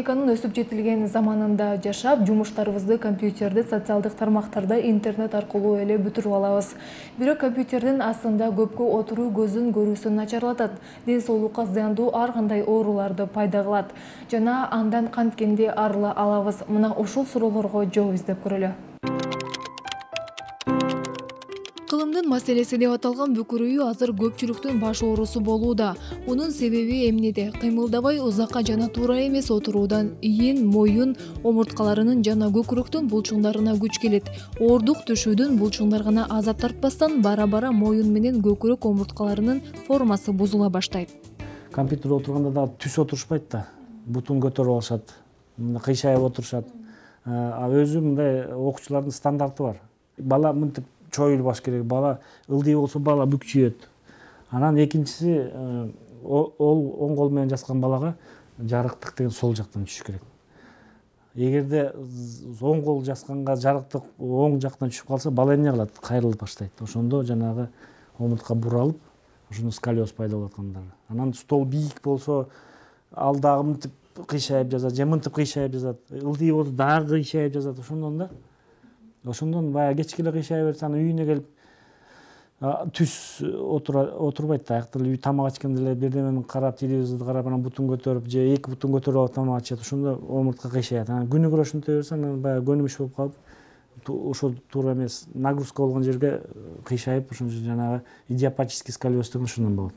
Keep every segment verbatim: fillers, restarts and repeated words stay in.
Техниканын өсүп жетилген заманында жашап, жумуштарыбызды компьютерде, социалдык тармактарда, интернет аркылуу эле бүтүрүп алабыз. Бирок компьютердин астында көпкө отуруу көздүн көрүүсүн начарлатат, ден соолукка зыяндуу ар кандай ооруларды пайда кылат. Жана андан канткенде арыла алабыз? Мына ушул суроолорго жооп издеп көрөлү. Кылымдын маселеси деп аталган бүкүрөйүү азыр көпчүлүктүн баш оорусу болууда. Мунун себеби эмнеде? Кыймылдабай узакка жана туура эмес отуруудан ийин, моюн, омурткаларынын жана көкүрөктүн булчуңдарына күч келет. Оордук түшүүдөн булчуңдар гана азап тартпастан бара-бара моюн менен көкүрөк омурткаларынын формасы бузула баштайт. Компьютерде отурганда да түз отурушпайт да. Бутун көтөрүп алышат, кыйшайып отурушат. А өзү мындай окуучулардын стандарты бар. Бала мынтип чоюлбаш керек, бала ылдый болсо бала бүкчүйөт. Анан экинчиси, ол оң кол менен жазган балага жарыктык деген сол жактан түшүш керек. Эгерде оң кол жазганга жарыктык оң жактан түшүп калса, бала эмне кылат? Кайрылып баштайт. Ошондо жанагы омуртка буралып, ошондо сколиоз пайда болот кандай. Анан стол бийик болсо, ал дагы мынтип кыйшайып жазат, же мынтип кыйшайып жазат. Ылдый болсо дагы кыйшайып жазат. Ошондон да Ошондон баягы кечке эле кыйшай берсе, анан үйүнө келип түз отурбайт да. Аяктан үй тамак ичкенде эле бирдемени карап, телевизорду карап, анан бутун көтөрүп, же эки бутун көтөрүп алып тамак ичет. Ошондо омуртка кыйшайат. Анан күнүгө ошентип берсе, анан баягы көнүмүш болуп калып, ошол туура эмес нагрузка болгон жерге кыйшайып, ошондо жанагы идиопатический сколиоз деген ошондон болот.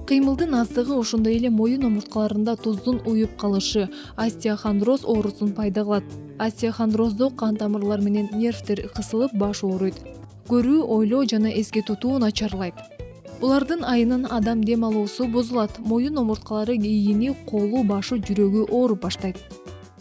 Кыймылдын аздыгы, ошондой эле моюн омурткаларында туздун уюп калышы остеохондроз оорусун пайда кылат. Остеохондроздо кан тамырлар менен нервтер кысылып, баш ооруйт. Көрүү, ойлоо жана эске тутуу начарлайт. Булардын айынан адам дем алуусу бузулат. Моюн омурткалары ийини, колу, башы, жүрөгү ооруп баштайт.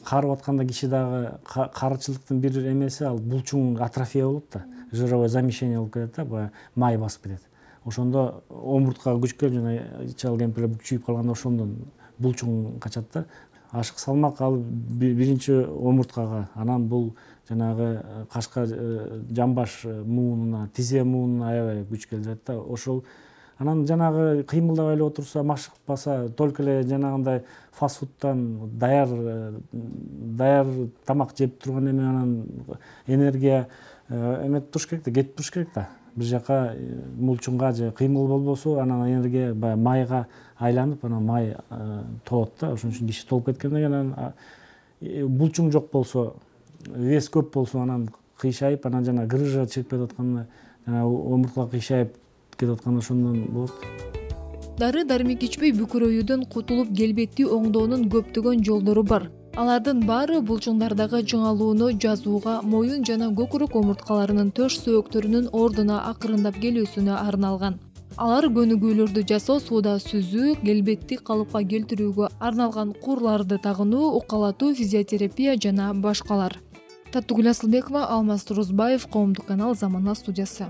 Карып атканда киши дагы карычылыктын бир эмеси ал булчуң атрофия болот да. Жировое замещение болуп кетет да, баягы май басып кетет. Ошондо омурткага күч келип, жана чал кемпирлер бүкчүйүп калганда ошондон булчуң качат да. Ашык салмак ал биринчи омурткага, анан бул жанагы кашка, жамбаш муунуна, тизе муунуна аябай күч келтирет да. Ошол анан жанагы кыймылдабай эле отурса, машыкпаса, только эле жанагындай фастфудтан даяр даяр тамак жеп турган эме, анан энергия эметип туруш керек да, кетип туруш керек да. Бир жака булчуңга же кыймыл болбосо, анан энергия баягы майга айланып, анан май толот да. Ошон үчүн киши толуп кеткенден кийин анан булчуң жок болсо, вес көп болсо, анан кыйшайып, анан жана грыжа чыгып кетип атканда, жана омуртка кыйшайып кетип атканда ошондон болот. Дары-дармек ичпей бүкүрөйүүдөн кутулуп келбетти оңдоонун көптөгөн жолдору бар. Алардын баары булчуңдардагы чыңалууну жазууга, моюн жана көкүрөк омурткаларынын төш сөөктөрүнүн ордуна акырындап келүүсүнө арналган. Алар көнүгүүлөрдү жасоо, сууда сүзүү, келбетти калыпка келтирүүгө арналган куурларды тагынуу, укалатуу, физиотерапия жана башкалар. Татыгүл Асылбекова, Алмаз Турузбаев, Коомдук канал, Замана студиясы.